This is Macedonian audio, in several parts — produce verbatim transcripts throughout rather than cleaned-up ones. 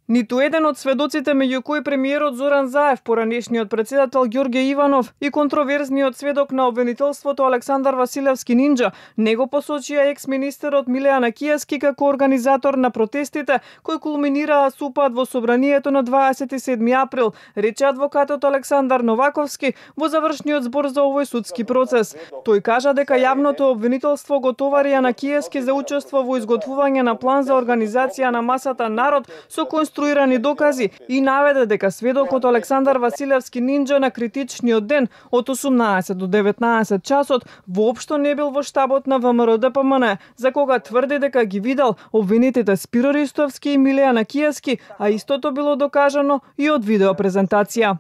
Ниту еден од сведоците, меѓу кои премиерот Зоран Заев, поранешниот председател Ѓорѓе Иванов и контроверзниот сведок на обвинителството Александар Василевски Нинџа, не го посочија екс-министерот Милеана Кијаски како организатор на протестите кои кулминираа со упад во собранието на дваесет и седми април, рече адвокатот Александар Новаковски во завршниот збор за овој судски процес. Тој кажа дека јавното обвинителство го товари на Кијаски за учество во изготвување на план за организација на масата народ со конструирани докази и наведе дека сведокот Александар Василевски Нинџа на критичниот ден од осумнаесет до деветнаесет часот воопшто не бил во штабот на ВМРО Д П М Н, за кога тврди дека ги видел обвинетите Спиро Ристовски и Милеана Кијаски, а истото било докажано и од видеопрезентација.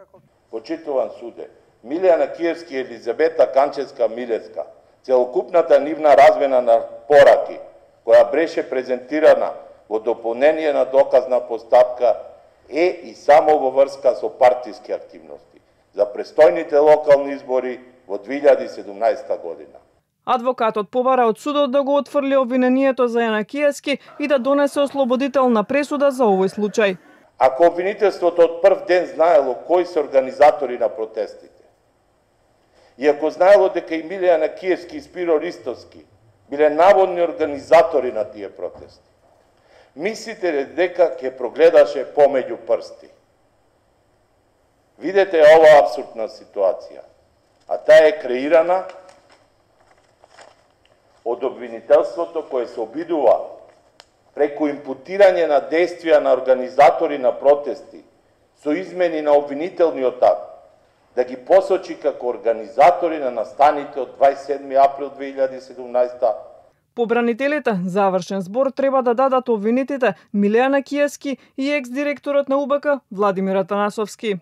Почитуван суде, Милеана Кијаски и Елизабета Канчевска-Милевска, целокупната нивна размена на пораки, која беше презентирана во дополнение на доказна постапка, е и само во врска со партиски активности за престојните локални избори во две илјади и седумнаесета година. Адвокатот побара од судот да го отфрли обвинението за Јана Кијаски и да донесе ослободителна пресуда за овој случај. Ако обвинителството од прв ден знаело кои се организатори на протестите, и ако знаело дека и Милеана Кијаски и Спиро Ристовски биле наводни организатори на тие протести, мислите ли дека ќе прогледаше помеѓу прсти? Видете оваа апсурдна ситуација, а таа е креирана од обвинителството кое се обидува преку импутирање на действија на организатори на протести со измени на обвинителниот акт да ги посочи како организатори на настаните од дваесет и седми април две илјади и седумнаесета. Побранителите завршен збор треба да дадат обвинетите Милеана Кијаски и екс-директорот на У Б К Владимир Атанасовски.